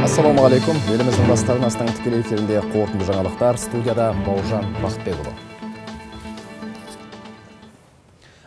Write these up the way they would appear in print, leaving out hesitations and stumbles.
Ассалаумағалейкум. Еліміздің бастарынастың тікелей эфирінде қорытынды жаңалықтар. Студияда Бауыржан Бақытбекұлы.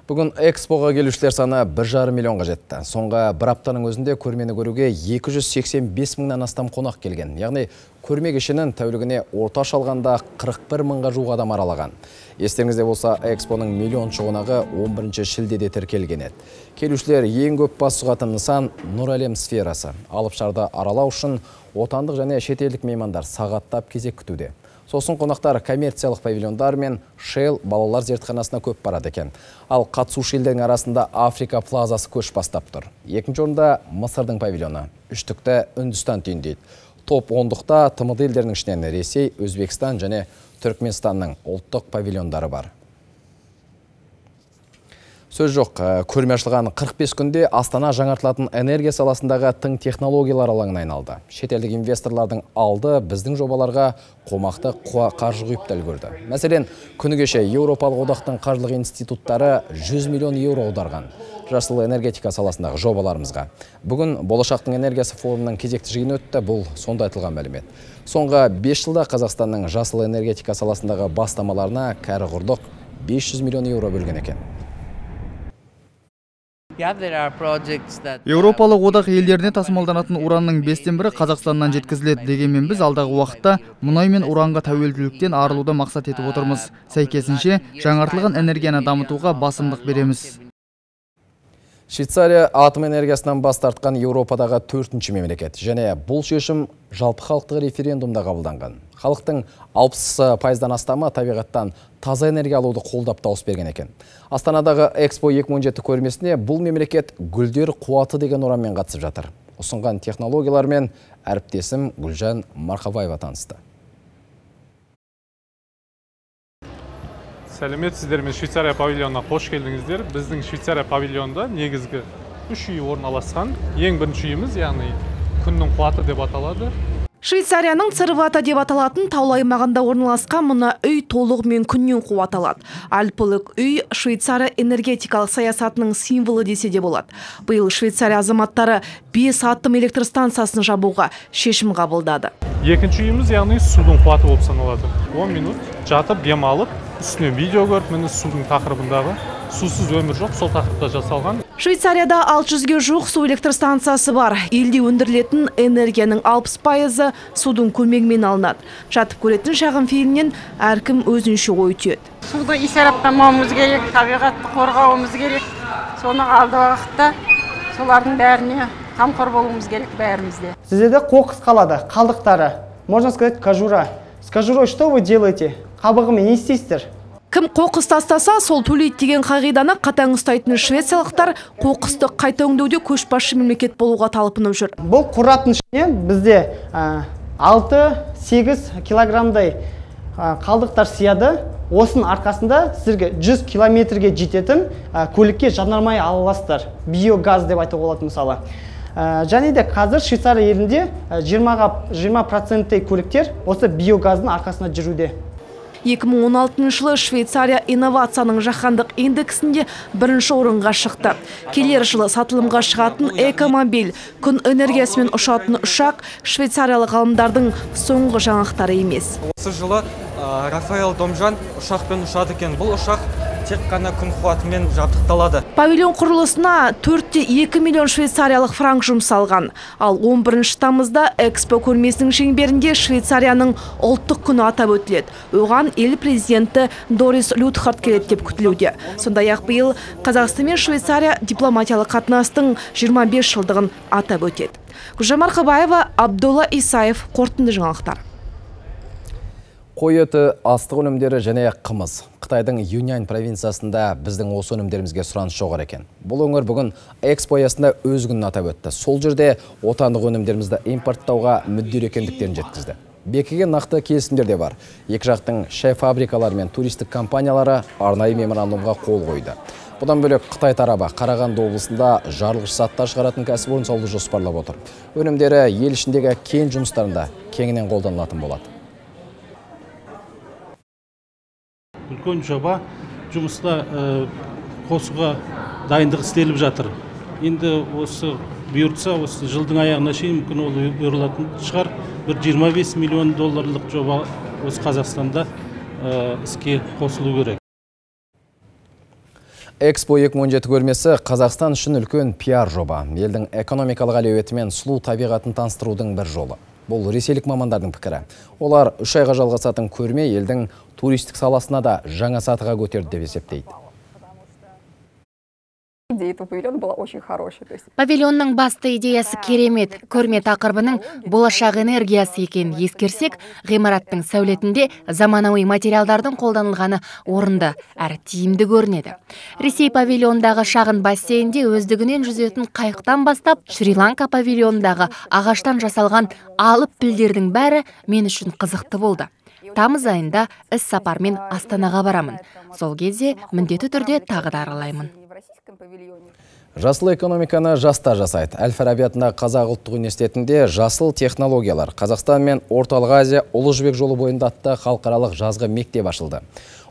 Бүгін экспоға келушілер саны 1,5 миллионға жетті. Соңғы бір аптаның өзінде көрмені көруге 285 мыңнан астам қонақ келген. Яғни көрме кешенін тәулігіне орташа алғанда 41 мыңға жуық адам аралаған. Естеріңізде болса, экспоның миллионыншы қонағы 11 шілдеде тіркелген еді. Келушілер ең көп бас сұғатын нысан Нұр әлем сферасы. Алып шарды аралау үшін отандық және шетелдік меймандар сағаттап кезек күтуде. Сосын қонақтар коммерциялық павильондар мен Shell балалар зертханасына көп барады екен. Ал қатысушы елдердің арасында Африка плазасы көш бастап тұр. Екінші орында Мысырдың павильоны, үштікті Үндістан түйіндейді. Топ 10-дықта тмд елдерінің ішінен Ресей, Өзбекстан және Түркменстанның ұлттық павильондары бар. Сөз жоқ, көрме ашылған 45 күнде Астана жаңартылатын энергия саласындағы тың технологиялар алаңына айналды. Шетелдік инвесторлардың алды біздің жобаларға қомақты қаржы құйып та үлгерді. Мәселен, күні кеше Еуропалық одақтың қаржылық институттары 100 миллион еуро аударған жасыл энергетика саласындағы жобаларымызға. Бүгін болашақтың энергиясы форумының кезекті жиыны өтті, бұл сонда айтылған мәлімет. Соңғы 5 жылда Қазақстанның жасыл энергетика саласындағы бастамаларына кәрі құрдық 500 миллион еуро бөлген екен. Еуропалық одақ елдеріне тасымалданатын уранның 5-тен 1 Қазақстаннан жеткізіледі. Дегенмен біз алдағы уақытта мұнай мен уранға тәуелділіктен арылуды мақсат етіп отырмыз. Сәйкесінше жаңартылған энергияны дамытуға басымдық береміз. Швейцария атом энергиясынан бас тартқан Еуропадағы 4-ші мемлекет. Және бұл шешім жалпы халықтық референдумда қабылданған. Халықтың 60% астамы табиғаттан таза энергия алуды қолдап дауыс берген екен. Астанадағы Экспо 2017 көрмесіне бұл мемлекет гүлдер қуаты деген ұранмен қатысып жатыр. Ұсынған технологиялармен әріптесім Гүлжан Марқабаева танысты. Сәлеметсіздер, мен Швейцария павильонына қош келдіңіздер. Біздің Швейцария павильонда негізгі 3 үй орналасқан. Ең бірінші үйіміз, яғни күннің қуаты деп аталады. Швейцарияның Цервата деп аталатын таулы аймағында орналасқан мына үй толығымен күннен қуат алады. Альпілік үй Швейцария энергетикалық саясатының символы десе де болады. Биыл Швейцария азаматтары 5 атом электр станциясын жабуға шешім қабылдады. Екінші үйіміз, яғни судың қуаты болып саналады. 10 минут жатып, дем алып, үстіне видео көріп, міне судың тақырыбындағы сусыз өмір жоқ, сол тақырыпта жасалған. Швейцарияда 600-ге жуық су электр станциясы бар. Елде өндірілетін энергияның 60% судың көмегімен алынады. Жатып көретін шағын фильмнен әркім өзінше ой түйеді. Суды исараптамауымыз керек, табиғатты қорғауымыз керек. Соны алды уақытта солардың бәріне қамқор болуымыз керек бәрімізде. Сіздерде қоқыс қалады, қалдықтары. Можно сказать, кожура. С кожурой что вы делаете? Қабығымен не істейсіздер? Кім қоқыс тастаса, сол төлейді деген қағиданы қатаң ұстайтын швециялықтар қоқысты қайта өңдеуде көшбасшы мемлекет болуға талпынып жүр. Бұл қураттың ішіне бізде 6-8 килограммдай қалдықтар сияды. Осының арқасында сіздерге 100 километрге жететін көлікке жанармай ала аласыздар. Биогаз деп айтуға болады мысалы. Және де қазір Швейцария елінде 20% көліктер осы биогаздың арқасында жүруде. 2016 жылы Швейцария инновацияның жаһандық индексінде бірінші орынға шықты. Келер жылы сатылымға шығатын экомобиль, күн энергиясымен ұшатын ұшақ швейцариялық ғалымдардың соңғы жаңалықтары емес. Осы жылы Рафаэл Домжан ұшақпен ұшады екен. Бұл ұшақ тек қана күн қуатымен жабдықталады. Павильон құрылысына 4,2 миллион швейцариялық франк жұмсалған. Ал 11 тамызда Экспо көрмесінің шеңберінде Швейцарияның ұлттық күні атап өтіледі. Оған ел президенті Дорис Лютхард келеді деп күтілуде. Сондай-ақ биыл Қазақстан мен Швейцария дипломатиялық қатынастың 25 жылдығын атап өтеді. Гүлжан Марқабаева, Абдолла Исаев, қорытынды жаңалықтар. Қой еті, астық өнімдері және қымыз. Қытайдың Юньнань провинциясында біздің осы өнімдерімізге сұраныс жоғары екен. Бұл өңір бүгін Экспо аясында өз күнін атап өтті. Сол жерде отандық өнімдерімізді импорттауға мүдделі екендіктерін жеткізді. Бекіген нақты келісімдер де бар. Екі жақтың шай фабрикалары мен туристік компаниялары арнайы меморандумға қол қойды. Бұдан бөлек Қытай тарабы Қарағанды облысында жарылғыш заттар шығаратын кәсіпорын салуды жоспарлап отыр. Өнімдері ел ішіндегі кен жұмыстарында кеңінен қолданылатын болады. Үлкен жоба жұмыста қосуға дайындық істеліп жатыр. Енді осы бұйыртса осы жылдың аяғына шейін мүмкін ол бұйырылатын шығар. Бір 25 миллион долларлық жоба осы Қазақстанда іске қосылу керек. Экспо 2017 көрмесі Қазақстан үшін үлкен пиар жоба. Елдің экономикалық әлеуеті мен сұлу табиғатын таныстырудың бір жолы. Бұл ресейлік мамандардың пікірі. Олар 3 айға жалғасатын көрме елдің туристік саласына да жаңа сатыға көтерді деп есептейді. Павильонның басты идеясы керемет. Көрме тақырыбының болашақ энергиясы екен ескерсек, ғимараттың сәулетінде заманауи материалдардың қолданылғаны орынды әрі тиімді көрінеді. Ресей павильондағы шағын бассейнде өздігінен жүзетін қайықтан бастап, Шри-Ланка павильондағы ағаштан жасалған алып пілдердің бәрі мен үшін қызықты болды. Тамыз айында іс сапармен Астанаға барамын. Сол кезде міндетті түрде тағы да аралаймын. Жасыл экономиканы жастар жасайды. Әл-Фараби атындағы Қазақ ұлттық университетінде жасыл технологиялар Қазақстан мен Орталық Азия Ұлы Жібек жолы бойында атты халықаралық жазғы мектеп ашылды.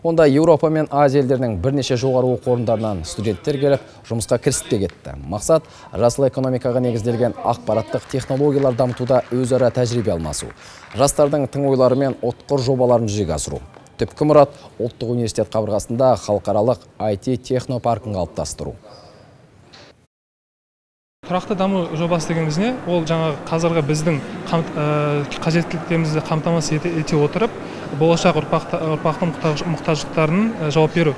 Онда Еуропа мен Азия елдерінің бірнеше жоғары оқу орындарынан студенттер келіп, жұмысқа кірісіп те кетті. Мақсат жасыл экономикаға негізделген ақпараттық технологиялар дамытуда өзара тәжірибе алмасу. Жастардың тың ойлары мен ұтқыр жобаларын жүзеге асыру. Түпкі мұрат ұлттық университет қабырғасында халықаралық IT технопаркін қалыптастыру. Тұрақты даму жобасы дегеніміз не? Ол жаңағы қазіргі біздің қажеттіліктерімізді қамтамасыз ете отырып, болашақ ұрпақтың мұқтаждықтарының жауап беру.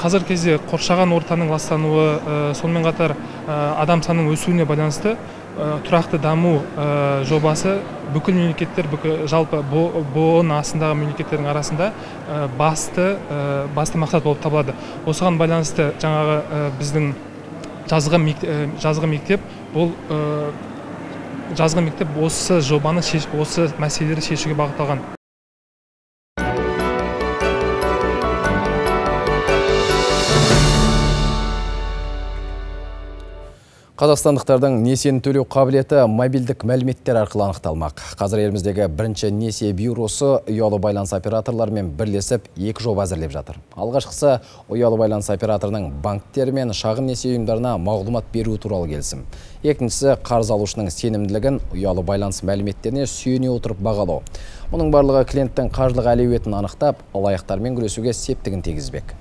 Қазіргі кезде қоршаған ортаның ластануы, сонымен қатар адам санының өсуіне байланысты тұрақты даму жобасы бүкіл мемлекеттер, жалпы БО-ның астындағы мемлекеттердің арасында басты мақсат болып табылады. Осыған байланысты жаңағы біздің жазғы мектеп осы жобаны, осы мәселелерді шешуге бағытталған. Қазақстандықтардың несиені төлеу қабілеті мобильдік мәліметтер арқылы анықталмақ. Қазір еліміздегі бірінші несие бюросы ұялы байланыс операторларымен бірлесіп 2 жоба әзірлеп жатыр. Алғашқысы ұялы байланыс операторының банктері мен шағын несие ұйымдарына мағлұмат беру туралы келісім. Екіншісі қарыз алушының сенімділігін ұялы байланыс мәліметтеріне сүйене отырып бағалау. Мұның барлығы клиенттің қаржылық әлеуетін анықтап, алаяқтармен күресуге септігін тигізбек.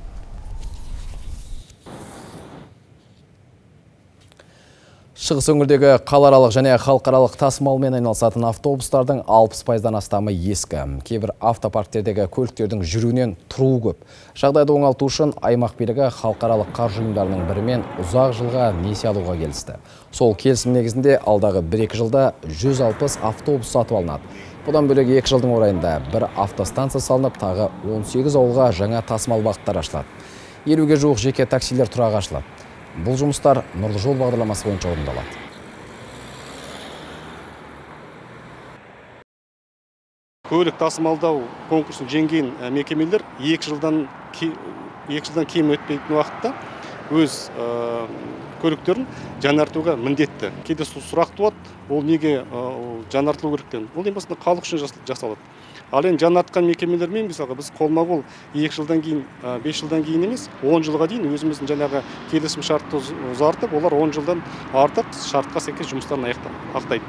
Шығыс өңірдегі қалааралық және халықаралық тасымалмен айналысатын автобустардың 60%-дан астамы ескі. Кейбір автопарктердегі көліктердің жүруінен тұруы көп. Жағдайды оңалту үшін аймақ билігі халықаралық қаржы ұйымдарының бірімен ұзақ жылға несие алуға келісті. Сол келісім негізінде алдағы 1-2 жылда 160 автобус сатып алынады. Бұдан бөлек 2 жылдың орайында бір автостанция салынып, тағы 18 ауылға жаңа тасымал бағыттар ашылады. 50-ге жуық жеке таксилер тұрағы ашылады. Бұл жұмыстар Нұрлы жол бағдарламасы бойынша орындалады. Көлік тасымалдау конкурсын жеңген мекемелер 2 жылдан кем өтпейтін уақытта өз көліктерін жаңартуға міндетті. Кейде сұрақ туады, ол неге жаңартылу керектен? Ол ең басында халық үшін жасалады. Ал енді жаңартқан мекемелермен мысалға біз қолма-қол 2 жылдан кейін, 5 жылдан кейін емес, 10 жылға дейін өзіміздің жаңағы келісім шартты ұзартып, олар 10 жылдан артық шартқа сәйкес жұмыстарын аяқтайды.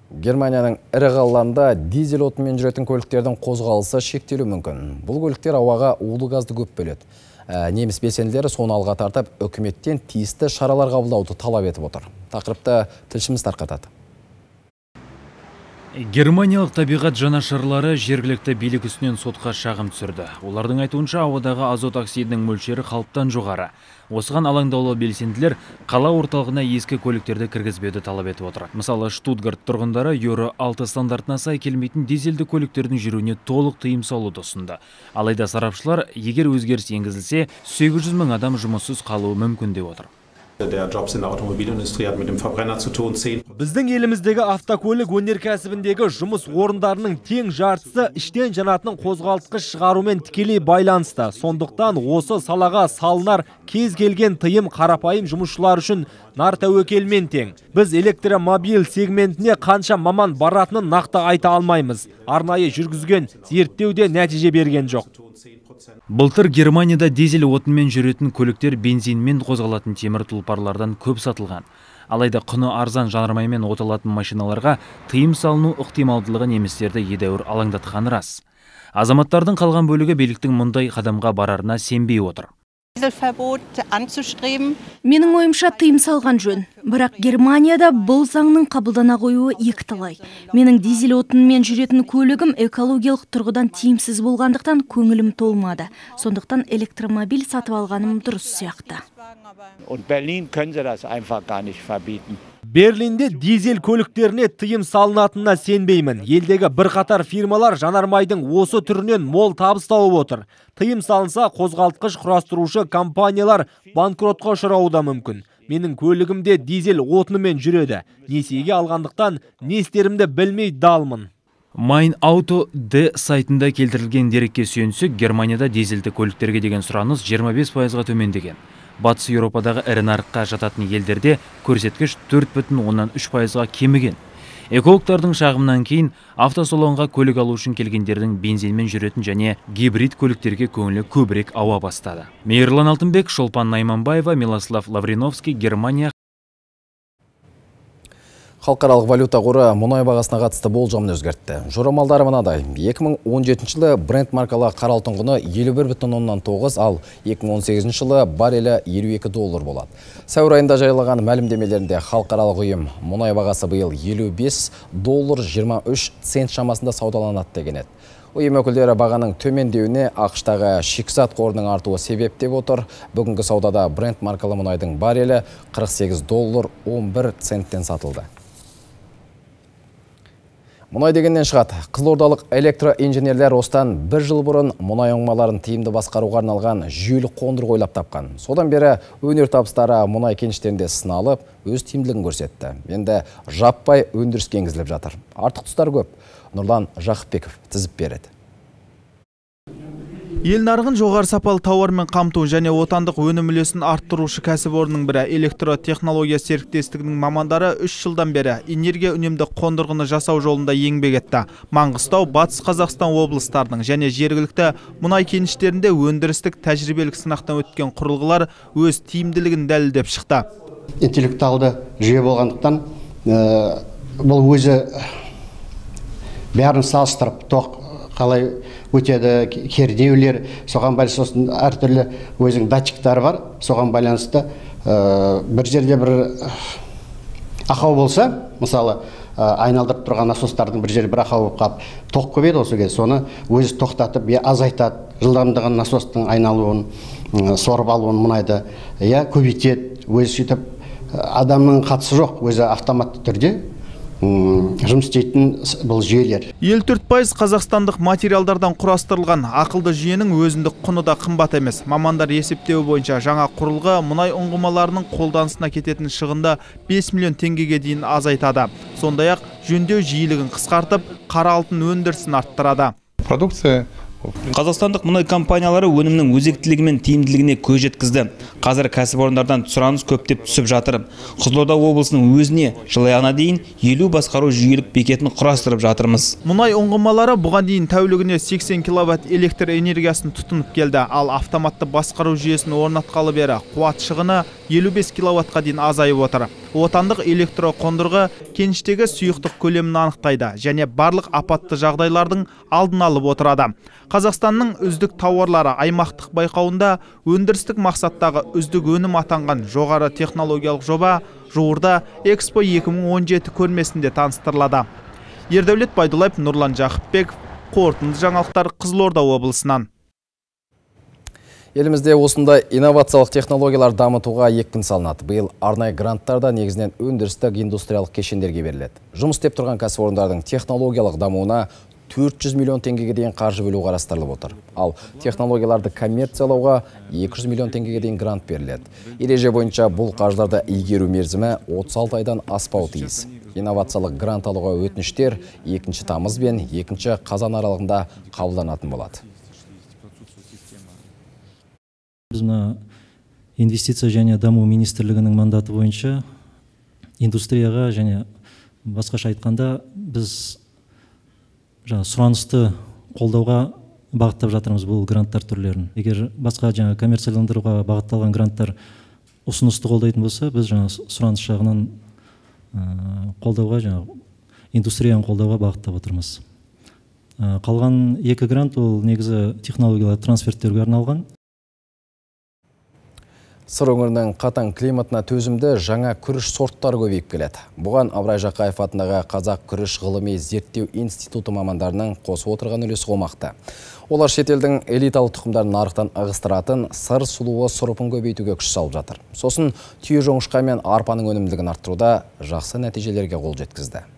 Германияның ірі қалаларында дизель отынымен жүретін көліктердің қозғалысы шектелуі мүмкін. Бұл көліктер ауаға улы газды көп бөледі. Неміс белсенділері соны алға тартып, үкіметтен тиісті шаралар қабылдауды талап етіп отыр. Тақырыпты тілшіміз тарқатады. Германиялық табиғат жанашырлары жергілікті билік үстінен сотқа шағым түсірді. Олардың айтуынша ауадағы азот оксидінің мөлшері қалыптан жоғары. Осыған алаңдаулы белсенділер қала орталығына ескі көліктерді кіргізбеуді талап етіп отыр. Мысалы, Штутгарт тұрғындары Еуро 6 стандартына сай келмейтін дизельді көліктердің жүруіне толық тыйым салуды ұсынды. Алайда сарапшылар, егер өзгеріс енгізілсе, 800 мың адам жұмыссыз қалуы мүмкін деп отыр. Біздің еліміздегі автокөлік өнеркәсібіндегі жұмыс орындарының тең жартысы іштен жанатын қозғалтқыш шығарумен тікелей байланысты. Сондықтан осы салаға салынар кез келген тыйым қарапайым жұмысшылар үшін нар тәуекелмен тең. Біз электромобиль сегментіне қанша маман баратынын нақты айта алмаймыз. Арнайы жүргізген зерттеуде нәтиже берген жоқ. Былтыр Германияда дизель отынмен жүретін көліктер бензинмен қозғалатын темір тұлпарлардан көп сатылған. Алайда құны арзан жанармаймен оталатын машиналарға тыйым салыну ықтималдылығы немістерді едәуір алаңдатқаны рас. Азаматтардың қалған бөлігі биліктің мұндай қадамға барарына сенбей отыр. Менің ойымша тыйым салған жөн. Бірақ Германияда бұл заңның қабылдана қоюы екіталай. Менің дизель отынымен жүретін көлігім экологиялық тұрғыдан тиімсіз болғандықтан көңілім толмады. Сондықтан электромобиль сатып алғаным дұрыс сияқты. Берлинде дизель көліктеріне тыйым салынатынына сенбеймін. Елдегі бірқатар фирмалар жанармайдың осы түрінен мол табыс тауып отыр. Тыйым салынса, қозғалтқыш құрастырушы компаниялар банкротқа ұшырауы да мүмкін. Менің көлігімде дизель отынымен жүреді. Несиеге алғандықтан не істерімді білмей далмын. Mein Auto D сайтында келтірілген дерекке сүйенсек, Германияда дизельді көліктерге деген сұраныс 25%-ға төмендеген. Батыс Еуропадағы ірі нарыққа жататын елдерде көрсеткіш 4,3%-ға кеміген. Экологтардың шағымнан кейін автосалонға көлік алу үшін келгендердің бензинмен жүретін және гибрид көліктерге көңілі көбірек ауа бастады. Мейірлан Алтынбек, Шолпан Найманбаева, Милослав Лавриновский, Германия. Халықаралық валюта қоры мұнай бағасына қатысты болжамын өзгертті. Жорамалдары мынадай: 2017 жылы Brent маркалы қара алтын құны 51,9, ал 2018 жылы баррелі $52 болады. Сәуір айында жайлаған мәлімдемелерінде халықаралық ұйым мұнай бағасы биыл $55.23 шамасында саудаланады деген еді. Ұйым өкілдері бағаның төмендеуіне ақштағы шикізат қорының артуы себеп деп отыр. Бүгінгі саудада Brent маркалы мұнайдың баррелі $48.11 сатылды. Мұнай дегеннен шығады. Қызылордалық электроинженерлер осыдан 1 жыл бұрын мұнай оңмаларын тиімді басқаруға арналған жүйелік қондырғы ойлап тапқан. Содан бері өнер табыстары мұнай кеніштерінде сыналып, өз тиімділігін көрсетті. Енді жаппай өндіріске енгізіліп жатыр. Артық тұстар көп. Нұрлан Жақыпбеков тізіп береді. Ел нарығын жоғары сапалы тауармен қамту және отандық өнім үлесін арттырушы кәсіпорынның бірі электротехнология серіктестігінің мамандары 3 жылдан бері энергия үнемді қондырғыны жасау жолында еңбек етті. Маңғыстау, Батыс Қазақстан облыстарының және жергілікті мұнай кеніштерінде өндірістік тәжірибелік сынақтан өткен құрылғылар өз тиімділігін дәлелдеп шықты. Интеллектуалды жүйе болғандықтан бұл өзі бәрін салыстырып, тоқ қалай өтеді, кернеулер, соған байланысты әртүрлі өзінің датчиктары бар. Соған байланысты бір жерде бір ақау болса, мысалы айналдырып тұрған насостардың бір жерде бір ақау болып қалып, тоқ көбейді осы кезде. Соны өзі тоқтатып, азайтады, жылдамдығын насостың айналуын, сорып алуын мұнайды көбейтеді. Өзі сөйтіп адамның қатысы жоқ, өзі автоматты түрде жұмыс істейтін бұл жүйелер. 54% қазақстандық материалдардан құрастырылған ақылды жүйенің өзіндік құны да қымбат емес. Мамандар есептеуі бойынша жаңа құрылғы мұнай ұңғымаларының қолданысына кететін шығынды 5 миллион теңгеге дейін азайтады. Сондай-ақ жөндеу жиілігін қысқартып, қара алтын өндірісін арттырады. Продукция Қазақстандық мұнай компаниялары өнімнің өзектілігі мен тиімділігіне көз жеткізді. Қазір кәсіпорындардан сұраныс көптеп түсіп жатыр. Қызылорда облысының өзіне жыл аяғына дейін 50 басқару жүйелік бекетін құрастырып жатырмыз. Мұнай ұңғымалары бұған дейін тәулігіне 80 киловатт электр энергиясын тұтынып келді, ал автоматты басқару жүйесін орнатқалы бері қуат шығыны 55 киловаттқа дейін азайып отыр. Отандық электроқондырғы кеніштегі сұйықтық көлемін анықтайды және барлық апатты жағдайлардың алдын алып отырады. Қазақстанның үздік тауарлары аймақтық байқауында өндірістік мақсаттағы үздік өнім атанған жоғары технологиялық жоба жуырда Экспо 2017 көрмесінде таныстырылады. Ердәулет Байдуллаев, Нұрлан Жақыпбеков, қорытынды жаңалықтар, Қызылорда облысынан. Елімізде осындай инновациялық технологиялар дамытуға екпін салынады. Биыл арнайы гранттарда негізінен өндірістік индустриялық кешендерге беріледі. Жұмыс істеп тұрған кәсіпорындардың технологиялық дамуына 400 миллион теңгеге дейін қаржы бөлу қарастырылып отыр. Ал технологияларды коммерциялауға 200 миллион теңгеге дейін грант беріледі. Ереже бойынша бұл қаржыларды игеру мерзімі 36 айдан аспауы тиіс. Инновациялық грант алуға өтініштер 2 тамыз бен 2 қазан аралығында қабылданатын болады. Біз инвестиция және даму министрлігінің мандаты бойынша индустрияға және басқаша айтқанда біз сұранысты қолдауға бағыттап жатырмыз бұл гранттар түрлерін. Егер басқа коммерцияландыруға бағытталған гранттар ұсынысты қолдайтын болса, біз жаңа сұраныс жағынан қолдауға, жаңа индустрияны қолдауға бағыттап отырмыз. Қалған 2 грант ол негізі технологиялар трансферттерге арналған. Сыр өңірінің қатаң климатына төзімді жаңа күріш сорттары көбейіп келеді. Бұған Абырай Жақаев атындағы Қазақ күріш ғылыми зерттеу институты мамандарының қосып отырған үлесі болмақты. Олар шетелдің элиталы тұқымдарын нарықтан ығыстыратын сыр сұлуы сұрыпын көбейтуге күш салып жатыр. Сосын түйе жоңышқа мен арпаның өнімділігін арттыруда жақсы нәтижелерге қол жеткізді.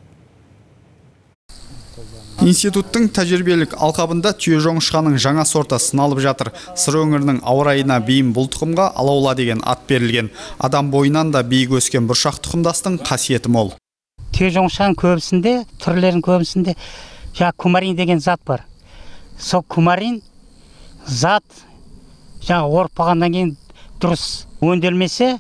Институттың тәжірибелік алқабында түйе жоңышқаның жаңа сорты сыналып жатыр. Сыр өңірінің ауа райына бейім бұл тұқымға алаула деген ат берілген. Адам бойынан да биік өскен бұршақ тұқымдастың қасиеті мол. Түйе жоңышқаның көбісінде, түрлерінің көбісінде кумарин деген зат бар. Сол кумарин зат орпағаннан кейін дұрыс өңделмесе,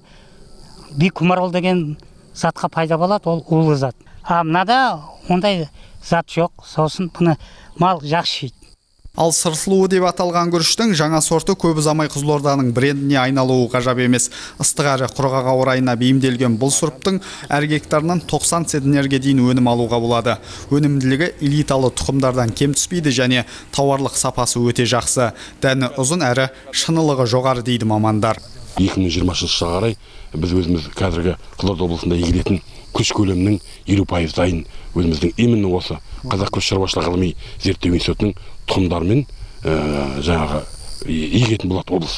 бикумарол деген затқа пайда болады, ол улы зат. Мынада ондай зат жоқ, сосын бұны мал жақсы жейді. Ал сыр сұлуы деп аталған күріштің жаңа сорты көп ұзамай Қызылорданың брендіне айналуы ғажап емес. Ыстық әрі құрғақ ауа райына бейімделген бұл сұрыптың әр гектарынан 90 центнерге дейін өнім алуға болады. Өнімділігі элиталы тұқымдардан кем түспейді және тауарлық сапасы өте жақсы. Дәні ұзын әрі шынылығы жоғары дейді мамандар. 2020 жылға қарай біз өзіміз қазіргі Қызылорда облысында егілетін күріш көлемінің 50% дайын өзіміздің именно осы Қазақ күріш шаруашылығы ғылыми зерттеу институтының тұқымдарымен жаңағы егетін болады облыс.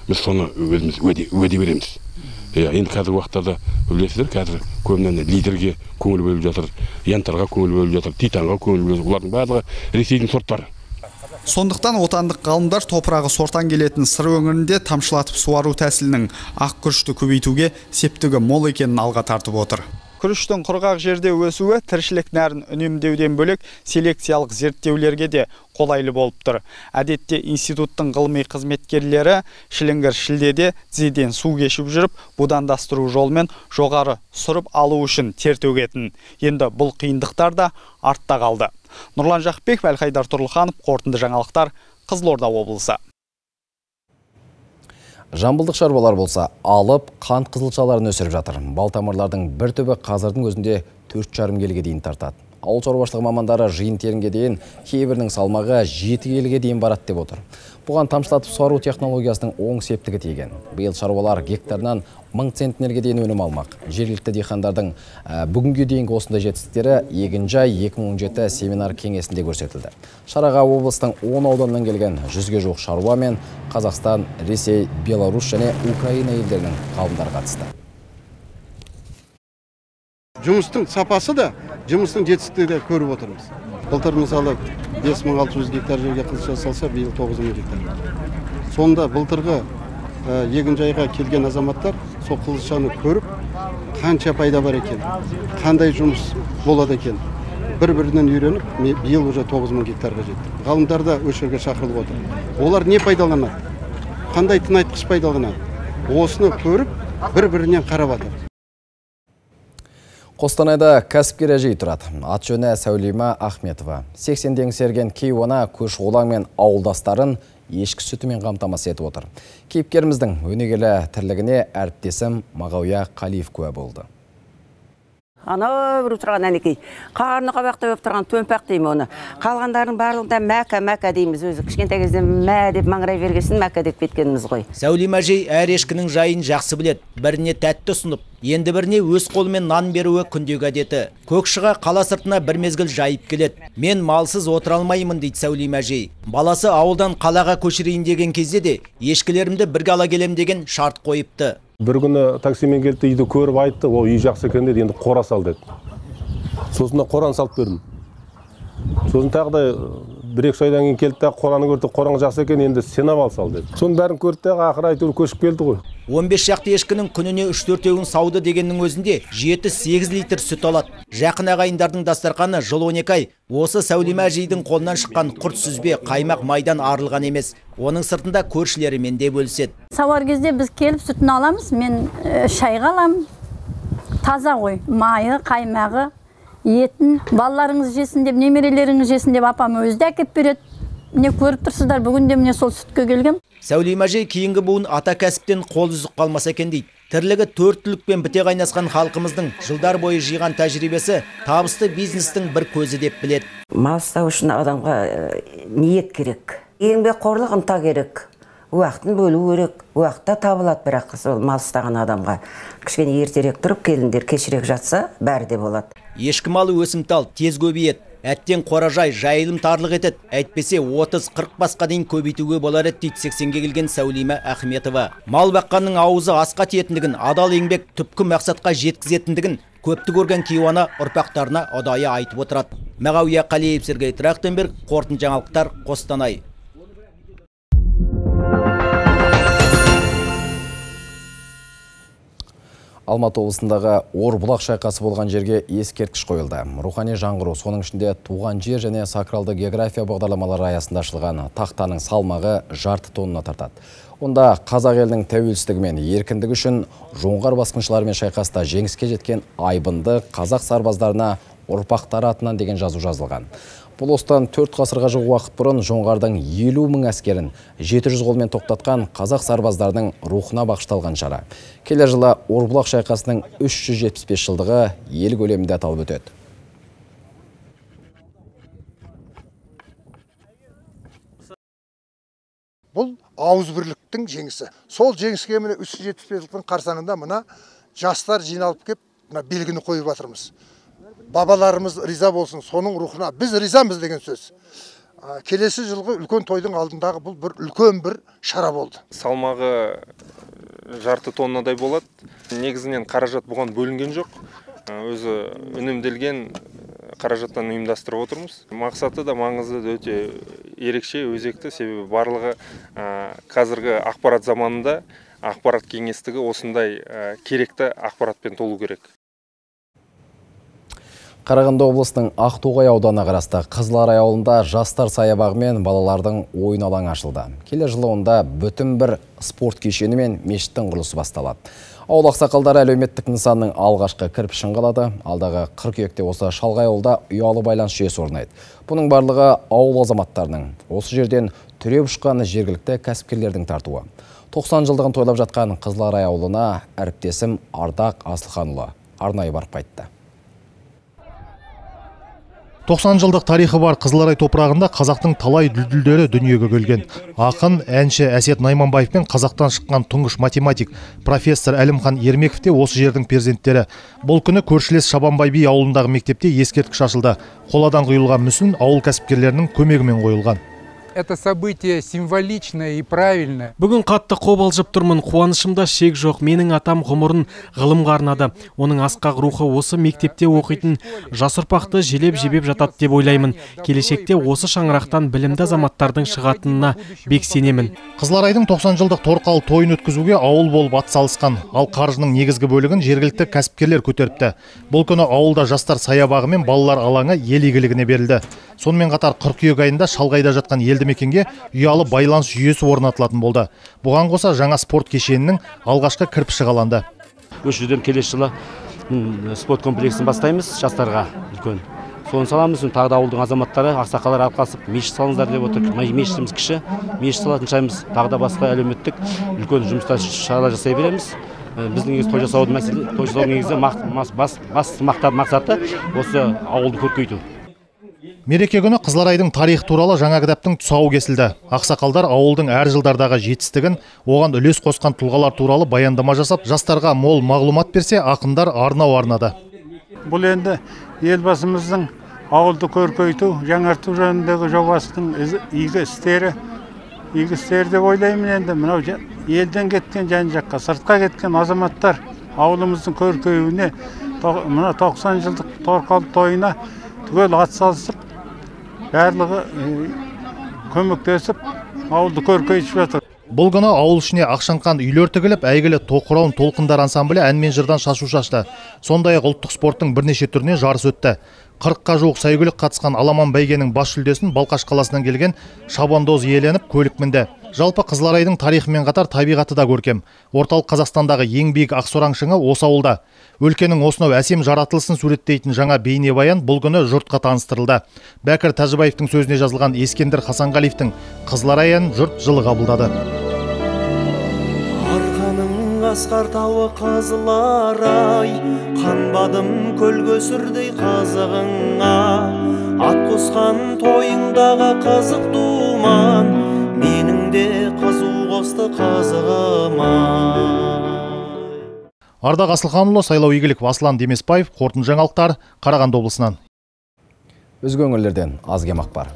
Біз соны өзіміз уәде береміз. Енді қазіргі уақыттарда білесіздер, қазір көбінен лидерге көңіл бөліп жатыр, янтарға көңіл бөліп жатыр, титанға көңіл бөліп жатыр. Олардың барлығы Ресейдің сорттары. Сондықтан отандық ғалымдар топырағы сортан келетін сыр өңірінде тамшылатып суару тәсілінің ақ күрішті көбейтуге септігі мол екенін алға тартып отыр. Күріштің құрғақ жерде өсуі тіршілік нәрін үнемдеуден бөлек селекциялық зерттеулерге де қолайлы болып тұр. Әдетте институттың ғылыми қызметкерлері шіліңгір шілдеде тізеден су кешіп жүріп, будандастыру жолмен жоғары сұрып алу үшін тер төгетін. Енді бұл қиындықтар да артта қалды. Нұрлан Жақпеков, Әлхайдар Тұрлыханов, қорытынды жаңалықтар, Қызылорда облысы. Жамбылдық шаруалар болса, алып қант қызылшаларын өсіріп жатыр. Балтамырлардың бір түбі қазірдің өзінде 4,5 келіге дейін тартады. Ауыл шаруашылығы мамандары жиын терінге дейін, кейбірінің салмағы 7 келіге дейін барады деп отыр. Бұған тамшылатып суару технологиясының оң септігі тиген. Биыл шаруалар гектарынан 1000 центнерге дейін өнім алмақ. Жергілікті диқандардың бүгінге дейінгі осындай жетістіктері Егінжай 2017 семинар кеңесінде көрсетілді. Шараға облыстың 10 ауданынан келген 100-ге жуық шаруа мен Қазақстан, Ресей, Беларусь және Украина елдерінің ғалымдары қатысты. Жұмыстың сапасы да, жұмыстың жетістігі де көріп отырмыз. Былтыр мысалы 5600 гектар жерге қызылша салса, биыл 9000 гектар. Сонда былтырғы егінжайға келген азаматтар сол қызылшаны көріп, қанша пайда бар екен, қандай жұмыс болады екен, бір-бірінен үйреніп, биыл уже 9000 гектарға жетті. Ғалымдар да өшірге шақырылып отыр. Олар не пайдаланады? Қандай тыңайтқыш пайдаланады? Осыны көріп, бір-бірінен қарап жатыр. Қостанайда кәсіпкер әжей тұрады. Ат жөні Сәулима Ахметова. 80 еңсерген кейуана көш олаң мен ауылдастарын ешкі сүтімен қамтамасыз етіп отыр. Кейіпкеріміздің өнегелі тірлігіне әріптесім Мағауия Қалиев куә болды. Ана бір тұрған әнекей, қарны қабақты өп тұрған төмпақ деймі оны. Қалғандардың барлығында мәка дейміз өзі. Кішкентай кезде мә деп маңырай бергесін мәка деп кеткеніміз ғой. Сәулима әжей әр ешкінің жайын жақсы біледі. Біріне тәтті ұсынып, енді біріне өз қолымен нан беруі күндегі әдеті. Көкшіға қала сыртына бір мезгіл жайып келеді. Мен малсыз отыра алмаймын дейді Сәулима әжей. Баласы ауылдан қалаға көшірейін деген кезде де ешкілерімді бірге ала келем деген шарт қойыпты. Бір күні таксимен келді, үйді көріп айтты, ол үй жақсы екен деді, енді қора сал деді. Сосын қораны салып бердім. Сосын тағы да 1-2 айдан кейін келді, қораны көрді, қораң жақсы екен, енді сенап ал сал деді. Соның бәрін көрді, ақыры айтыр көшіп келді ғой. 15 шақты ешкінің күніне 3-4 сауды дегеннің өзінде 7-8 литр сүт алады. Жақын ағайындардың дастарқаны жыл 12 ай. Осы Сәулима әжейдің қолынан шыққан құрт сүзбе, қаймақ майдан арылған емес. Оның сыртында көршілерімен де бөліседі. Сауар кезде біз келіп сүтін аламыз, мен шайға аламын. Таза ғой, майы, қаймағы, етін, балаларыңыз жесін деп, немерелеріңіз жесін деп апам өзі де әкеп береді. Не көріп тұрсыздар, бүгінде міне сол сүтке келгем. Сәулима әжей кейінгі буын ата кәсіптен қол үзіп қалмаса екен дейді. Тірлігі төрттілікпен біте қайнасқан халқымыздың жылдар бойы жиған тәжірибесі табысты бизнестің бір көзі деп біледі. Мал ұстау үшін адамға ниет керек. Еңбекқорлық ынта керек. Уақытын бөлу керек. Уақытта табылады, бірақ сол мал ұстаған адамға. Кішкене ертерек тұрып, келіндер кешірек жатса, бәрі де болады. Ешкі малы өсімтал, тез көбейеді. Әттен қоражай жайылым тарлық етеді. Әйтпесе 30-40 басқа дейін көбейтуге болар еді дейді 80-ге келген Сәулима Ахметова. Мал баққанның аузы асқа тиетіндігін, адал еңбек түпкі мақсатқа жеткізетіндігін көпті көрген кейуана ұрпақтарына ұдайы айтып отырады. Мағауия Қалиев, Сергей Трахтенберг, қорытынды жаңалықтар, Қостанай. Алматы облысындағы Орбұлақ шайқасы болған жерге ескерткіш қойылды. Рухани жаңғыру, соның ішінде туған жер және сакралды география бағдарламалары аясында ашылған тақтаның салмағы жарты тонна тартады. Онда қазақ елінің тәуелсіздігі мен еркіндігі үшін жоңғар басқыншыларымен шайқаста жеңіске жеткен айбынды қазақ сарбаздарына ұрпақтары атынан деген жазу жазылған. Бұл осыдан 4 ғасырға жуық уақыт бұрын жоңғардың 50 мың әскерін 700 қолмен тоқтатқан қазақ сарбаздарының рухына бағышталған шара. Келер жылы Орбұлақ шайқасының 375 жылдығы ел көлемінде аталып өтеді. Бұл ауызбірліктің жеңісі. Сол жеңіске міне 375 жылдың қарсаңында мына жастар жиналып кеп, мына белгіні қойып жатырмыз. Бабаларымыз риза болсын, соның рухына біз ризамыз деген сөз. Келесі жылғы үлкен тойдың алдындағы бұл бір үлкен бір шара болды. Салмағы жарты тоннадай болады. Негізінен қаражат бұған бөлінген жоқ. Өзі үнемделген қаражаттан ұйымдастырып отырмыз. Мақсаты да маңызды да өте ерекше, өзекті, себебі барлығы қазіргі ақпарат заманында ақпарат кеңістігі осындай керекті ақпаратпен толу керек. Қарағанды облысының Ақтоғай ауданы қарасты Қызыларай ауылында жастар саябағы мен балалардың ойын алаңы ашылды. Келер жылы онда бүтін бір спорт кешені мен мешіттің құрылысы басталады. Ауыл ақсақалдары әлеуметтік нысанның алғашқы кірпішін қалады. Алдағы қыркүйекте осы шалғай ауылда ұялы байланыс жүйесі орнайды. Бұның барлығы ауыл азаматтарының осы жерден түреп ұшқан жергілікті кәсіпкерлердің тартуы. 90 жылдығын тойлап жатқан Қызыларай ауылына әріптесім Ардақ Асылханұлы арнайы барып қайтты. 90 жылдық тарихы бар Қызыларай топырағында қазақтың талай дүлдүлдері дүниеге келген. Ақын, әнші Әсет Найманбаев пен қазақтан шыққан тұңғыш математик профессор Әлімхан Ермеков те осы жердің перзенттері. Бұл күні көршілес Шабанбай би ауылындағы мектепте ескерткіш ашылды. Қоладан құйылған мүсін ауыл кәсіпкерлерінің көмегімен қойылған. Это событие символичное и правильное. Бүгін қатты қобалжып тұрмын, қуанышымда шек жоқ. Менің атам ғұмырын ғылымға арнады. Оның асқақ рухы осы мектепте оқитын жас ұрпақты желеп-жебеп жатады деп ойлаймын. Келешекте осы шаңырақтан білімді азаматтардың шығатынына бек сенемін. Қызыларайдың 90 жылдық торқалы тойын өткізуге ауыл болып атсалысқан, ал қаржының негізгі бөлігін жергілікті кәсіпкерлер көтеріпті. Бұл күні ауылда жастар саябағы мен балалар алаңы ел игілігіне берілді. Сонымен қатар қыркүйек айында шалғайда жатқан елді мекенге ұялы байланыс жүйесі орнатылатын болды. Бұған қоса жаңа спорт кешенінің алғашқы кірпіші қаланды. Осы жерден келесі жылы спорт комплексін бастаймыз жастарға үлкен. Соны саламыз, тағы да ауылдың азаматтары, ақсақалдар алқасып, мешіт салыңыздар деп отыр. Мешітіміз кіші, мешіт салатын шаймыз, тағы да басқа әлеуметтік үлкен жұмыстар шаралар жасай береміз. Біздің негізі той жасаудың негізі басты мақсаты осы ауылды көркейту. Мереке күні Қызыларайдың тарихы туралы жаңа кітаптың тұсауы кесілді. Ақсақалдар ауылдың әр жылдардағы жетістігін, оған үлес қосқан тұлғалар туралы баяндама жасап, жастарға мол мағлұмат берсе, ақындар арнау арнады. Бұл енді елбасымыздың ауылды көркейту, жаңарту жөніндегі жобасының игі істері деп ойлаймын. Енді мынау елден кеткен жан-жаққа, сыртқа кеткен азаматтар ауылымыздың көркеюіне, мына 90 жылдық торқалы тойына түгел атсалысып, барлығы көмектесіп, ауылды көркейтіп жатыр. Бұл күні ауыл ішіне Ақшаңқан үйлер тігіліп, әйгілі Тоқырауын толқындар ансамблі ән мен жырдан шашу шашты. Сондай-ақ ұлттық спорттың бірнеше түріне жарыс өтті. 40-қа жуық сәйгүлік қатысқан Аламан бәйгенің бас жүлдесін Балқаш қаласынан келген Шабандоз иеленіп көлік мінді. Жалпы Қызыларайдың тарихымен қатар табиғаты да көркем. Орталық Қазақстандағы ең биік Ақсораң шыңы осы ауылда. Өлкенің осынау әсем жаратылысын суреттейтін жаңа бейнебаян бұл күні жұртқа таныстырылды. Бәкір Тәжібаевтың сөзіне жазылған Ескендір Хасанғалиевтің Қызыларай әнін жұрт жылы қабылдады. Арқаның асқар тауы қазылар-ай, қанбадым көл көсірдей қазығыңа. Ат қосқан тойыңдағы қызық думан, менің де қызу қосты қазығыма. Ардақ Асылханұлы, Сайлау Игіліков, Аслан Демесбаев, қорытынды жаңалықтар, Қарағанды облысынан. Өзге өңірлерден аз кем ақпар.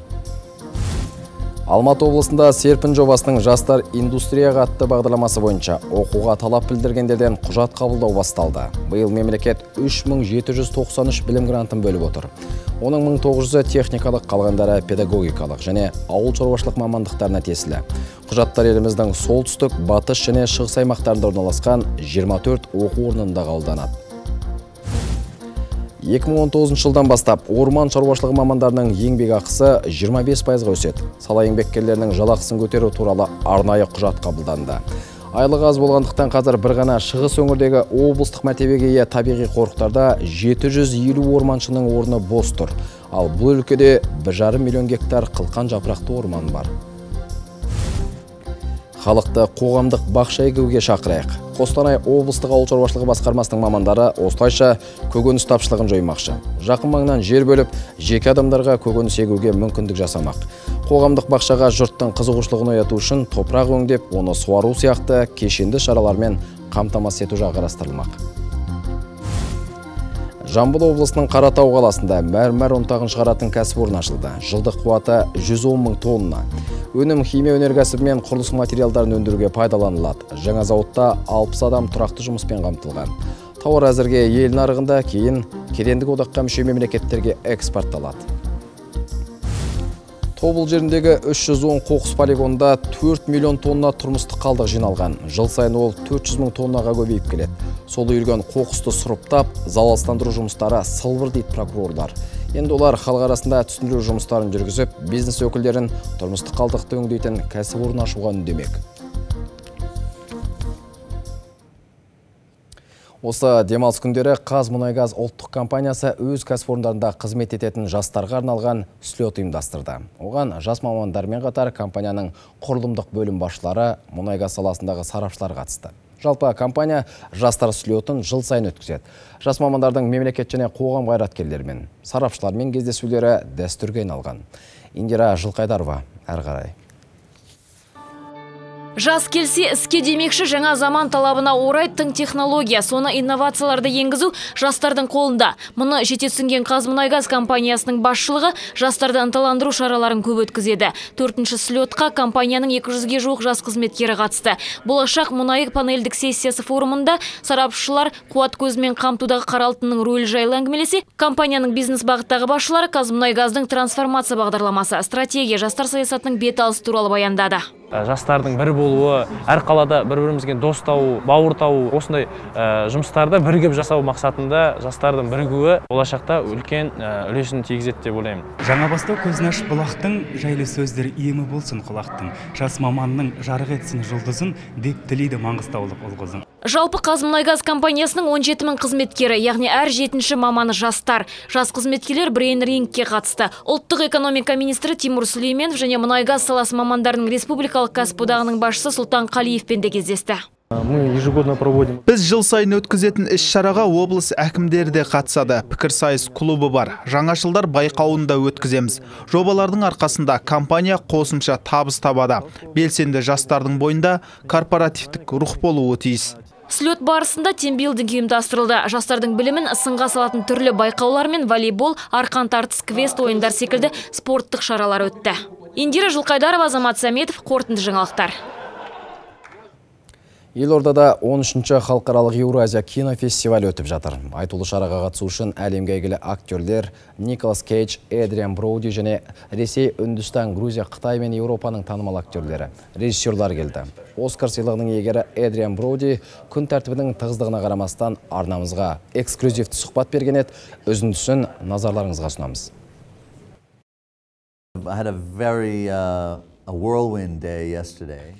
Алматы облысында Серпін жобасының жастар индустрияға атты бағдарламасы бойынша оқуға талап білдіргендерден құжат қабылдау басталды. Биыл мемлекет 3793 білім грантын бөліп отыр. Оның 1900-і техникалық, қалғандары педагогикалық және ауыл шаруашылық мамандықтарына тиесілі. Құжаттар еліміздің солтүстік, батыс және шығыс аймақтарында орналасқан 24 оқу орнында қабылданады. 2019 жылдан бастап орман шаруашылығы мамандарының еңбек ақысы 25%-ға өседі. Сала еңбеккерлерінің жалақысын көтеру туралы арнайы құжат қабылданды. Айлық аз болғандықтан қазір бір ғана шығыс өңірдегі облыстық мәртебеге ие табиғи қорықтарда 750 орманшының орны бос тұр. Ал бұл өлкеде 1,5 миллион гектар қылқан жапырақты орман бар. Халықты қоғамдық бақша егуге шақырайық. Қостанай облыстық ауыл шаруашылығы басқармасының мамандары осылайша көкөніс тапшылығын жоймақшы. Жақын маңнан жер бөліп, жеке адамдарға көкөніс егуге мүмкіндік жасамақ. Қоғамдық бақшаға жұрттың қызығушылығын ояту үшін топырақ өңдеп, оны суару сияқты кешенді шаралармен қамтамасыз ету жағы қарастырылмақ. Жамбыл облысының Қаратау қаласында мәрмәр ұнтағын шығаратын кәсіпорын ашылды. Жылдық қуаты 110 мың тонна. Өнім химия өнеркәсібі мен құрылыс материалдарын өндіруге пайдаланылады. Жаңа зауытта 60 адам тұрақты жұмыспен қамтылған. Тауар әзірге ел нарығында, кейін кедендік одаққа мүше мемлекеттерге экспортталады. Тобыл жеріндегі 310 қоқыс полигонында 4 миллион тонна тұрмыстық қалдық жиналған. Жыл сайын ол 400 мың тоннаға көбейіп келеді. Сол үйілген қоқысты сұрыптап, залалсыздандыру жұмыстары сылбыр дейді прокурорлар. Енді олар халық арасында түсіндіру жұмыстарын жүргізіп, бизнес өкілдерін тұрмыстық қалдықты өңдейтін кәсіпорын ашуға үндемек. Осы демалыс күндері Қазмұнайгаз ұлттық компаниясы өз кәсіпорындарында қызмет ететін жастарға арналған слет ұйымдастырды. Оған жас мамандармен қатар компанияның құрылымдық бөлім басшылары, мұнайгаз саласындағы сарапшылар қатысты. Жалпы компания жастар слетін жыл сайын өткізеді. Жас мамандардың мемлекет және қоғам қайраткерлерімен, сарапшылармен кездесулері дәстүрге айналған. Индира Жылқайдарова, әрі қарай. Жас келсе іске демекші жаңа заман талабына орай тың технология, соны инновацияларды енгізу жастардың қолында. Мұны жете түсінген Қазмұнайгаз компаниясының басшылығы жастарды ынталандыру шараларын көп өткізеді. 4-ші слетқа компанияның 200-ге жуық жас қызметкері қатысты. Болашақ мұнайы панельдік сессиясы форумында сарапшылар қуат көзімен қамтудағы қара алтынның рөлі жайлы әңгімелесе, компанияның бизнес бағыттағы басшылары Қазмұнайгаздың трансформация бағдарламасы, стратегия, жастар саясатының беталысы туралы баяндады. Жастардың бір болуы, әр қалада бір-бірімізге дос тауы, бауыр тауы, осындай жұмыстарды бірігіп жасау мақсатында жастардың бірігуі болашақта үлкен үлесін тигізеді деп ойлаймын. Жаңа бастау көзін ашып бұлақтың, жайлы сөздер емі болсын құлақтың. Жас маманның жарық етсін жұлдызын, деп тілейді маңғыстаулық ұл-қызын. Жалпы Қазмұнайгаз компаниясының 17 мың қызметкері, яғни әр 7-ші маманы жастар. Жас қызметкерлер брейн рингке қатысты. Ұлттық экономика министрі Тимур Сүлейменов және мұнайгаз саласы мамандарының республикалық кәсіподағының басшысы Сұлтан Қалиевпен де кездесті. Біз жыл сайын өткізетін іс-шараға облыс әкімдері де қатысады. Пікірсайыс клубы бар. Жаңашылдар байқауында өткіземіз. Жобалардың арқасында компания қосымша табыс табады. Белсенді жастардың бойында корпоративтік рух болуы тиіс. Слет барысында тимбилдинг ұйымдастырылды. Жастардың білімін сынға салатын түрлі байқаулар мен волейбол, арқан тартыс, квест ойындар секілді спорттық шаралар өтті. Индира Жылқайдарова, Азамат Сәметов, қорытынды жаңалықтар. Елордада 13-ші халықаралық Еуразия кинофестивалі өтіп жатыр. Айтулы шараға қатысу үшін әлемге әйгілі актерлер Николас Кейдж, Эдриан Броуди және Ресей, Үндістан, Грузия, Қытай мен Еуропаның танымал актерлері, режиссерлар келді. Оскар сыйлығының иегері Эдриан Броуди күн тәртібінің тығыздығына қарамастан арнамызға эксклюзивті сұхбат берген еді. Үзіндісін назарларыңызға ұсынамыз.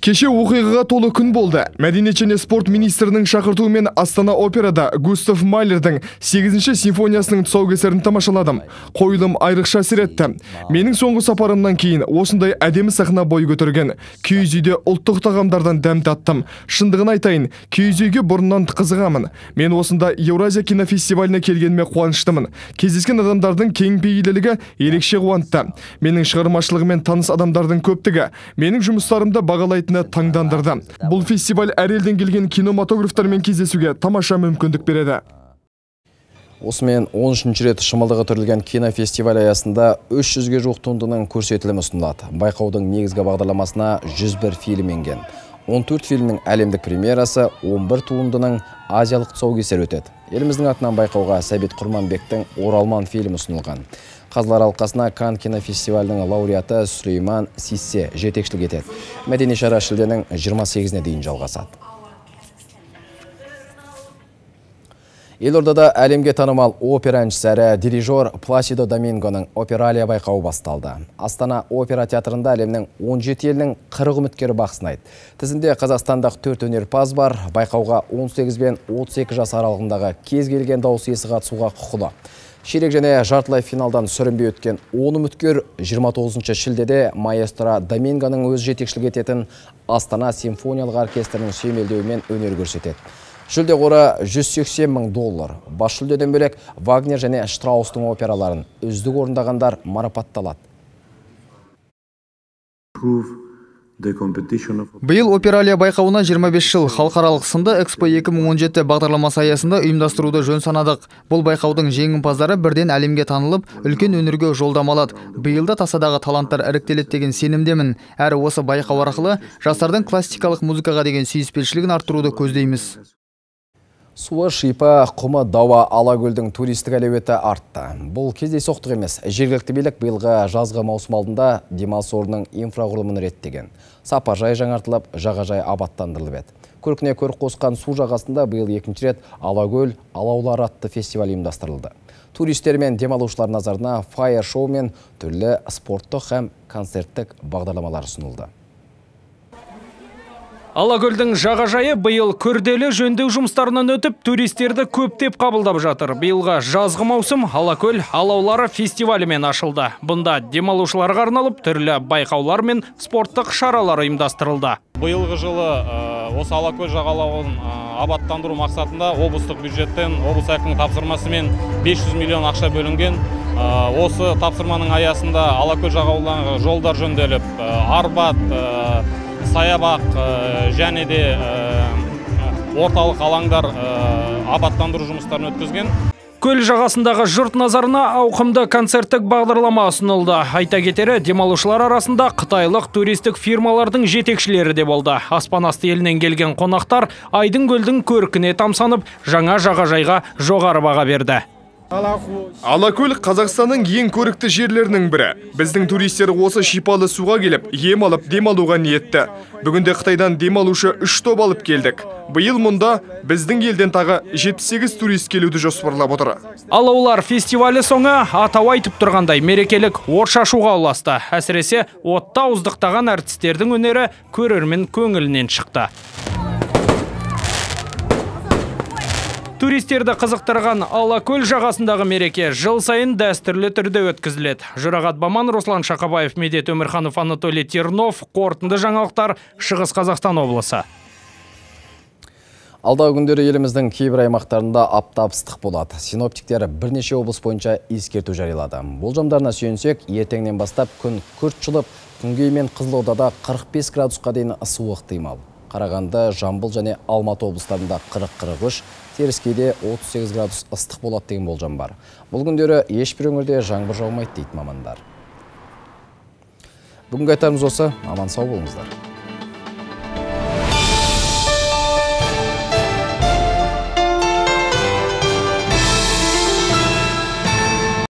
Кеше оқиғаға толы күн болды. Мәдениет және спорт министрінің шақыртуымен Астана операда Густав Майлердің 8-ші симфониясының тұсаукесерін тамашаладым. Қойылым айрықша әсер етті. Менің соңғы сапарымнан кейін осындай әдемі сахна бой көтерген. Киіз үйде ұлттық тағамдардан дәм таттым. Шындығын айтайын, киіз үйге бұрыннан қызығамын. Мен осында Еуразия кинофестиваліне келгеніме қуаныштымын. Кездескен адамдардың кең пейілділігі ерекше қуантты. Менің шығармашылығымен таныс адамдардың көптігі менің жұмыстарымды бағалайтыны таңдандырды. Бұл фестиваль әр елден келген кинематографтармен кездесуге тамаша мүмкіндік береді. Осымен 13-ші рет шымылдығы түрілген кинофестиваль аясында 300-ге жуық туындының көрсетілімі ұсынылады. Байқаудың негізгі бағдарламасына 101 фильм енген. 14 фильмнің әлемдік премьерасы, 11 туындының азиялық тұсаукесері өтеді. Еліміздің атынан байқауға Сәбит Құрманбектің «Оралман» фильмі ұсынылған. Қазылар алқасына Канн кинофестивалінің лауреаты Сүлейман Сиссе жетекшілік етеді. Мәдени шара шілденің 28-не дейін жалғасады. Елордада әлемге танымал опера әншісі әрі дирижер Пласидо Домингоның опералия байқауы басталды. Астана опера театрында әлемнің 17 елінің 40 үміткері бақ сынайды. Тізімде қазақстандық 4 өнерпаз бар. Байқауға 18 бен 32 жас аралығындағы кез келген дауыс иесі қатысуға құқылы. Ширек және жартылай финалдан сүрінбей өткен 10 үміткер 29 шілдеде маэстро Домингоның өз жетекшілік ететін Астана симфониялық оркестрінің сүйемелдеуімен өнер көрсетеді. Жүлде қоры $180,000. Бас жүлдеден бөлек Вагнер және Штраустың операларын үздік орындағандар марапатталады. Биыл опералия байқауына 25 жыл халықаралық сынды Экспо 2017 бағдарламасы аясында ұйымдастыруды жөн санадық. Бұл байқаудың жеңімпаздары бірден әлемге танылып, үлкен өнерге жолдамалады. Биылда тасадағы таланттар іріктеледі деген сенімдемін. Әрі осы байқау арқылы жастардың классикалық музыкаға деген сүйіспеншілігін арттыруды көздейміз. Суы, шипа, құмы, дауа, Алакөлдің туристік әлеуеті артты. Бұл кездейсоқтық емес. Жергілікті билік биылғы жазғы маусым алдында демалыс орнының инфрақұрылымын реттеген. Сапажай жаңартылып, жағажай абаттандырылып еді. Көркіне көрік қосқан су жағасында биыл 2-ші рет Алакөл алаулар атты фестиваль ұйымдастырылды. Туристер мен демалушылар назарына фаер-шоу мен түрлі спорттық һәм концерттік бағдарламалар ұсынылды. Алакөлдің жағажайы биыл күрделі жөндеу жұмыстарынан өтіп, туристерді көптеп қабылдап жатыр. Биылға жазғы маусым Алакөл алаулары фестивалімен ашылды. Бұнда демалушыларға арналып түрлі байқаулар мен спорттық шаралар ұйымдастырылды. Биылғы жылы осы Алакөл жағалауын абаттандыру мақсатында облыстық бюджеттен облыс әкімінің тапсырмасымен 500 миллион ақша бөлінген. Осы тапсырманың аясында Алакөл жағалауындағы жолдар жөнделіп, арбат, саябақ және де орталық алаңдар абаттандыру жұмыстарын өткізген. Көл жағасындағы жұрт назарына ауқымды концерттік бағдарлама ұсынылды. Айта кетері, демалушылар арасында қытайлық туристік фирмалардың жетекшілері де болды. Аспан асты елінен келген қонақтар Айдын көлдің көркіне тамсанып, жаңа жағажайға жоғары баға берді. Алакөл Қазақстанның ең көрікті жерлерінің бірі. Біздің туристер осы шипалы суға келіп, ем алып демалуға ниетті. Бүгінде Қытайдан демалушы 3 топ алып келдік. Биыл мұнда біздің елден тағы 78 турист келуді жоспарлап отыр. Алаулар фестивалі соңы атау айтып тұрғандай мерекелік от шашуға ұласты. Әсіресе отта ауыздықтаған әртістердің өнері көрермен көңілінен шықты. Туристерді қызықтырған Алакөл жағасындағы мереке жыл сайын дәстүрлі түрде өткізіледі. Жұрағат Баман, Руслан Шақабаев, Медет Өмірханов, Анатолий Тернов, қорытынды жаңалықтар, Шығыс Қазақстан облысы. Алдағы күндері еліміздің кейбір аймақтарында аптап ыстық болады. Синоптиктер бірнеше облыс бойынша ескерту жариялады. Болжамдарына сүйенсек, ертеңнен бастап күн күрт жылып, күнгей мен Қызылордада 45 градусқа дейін ысуы ықтимал. Қарағанды, Жамбыл және Алматы облыстарында 40-43, Теріскейде 38 градус ыстық болады деген болжам бар. Бұл күндері ешбір өңірде жаңбыр жаумайды дейді мамандар. Бүгінгі айтарымыз осы. Аман сау болыңыздар.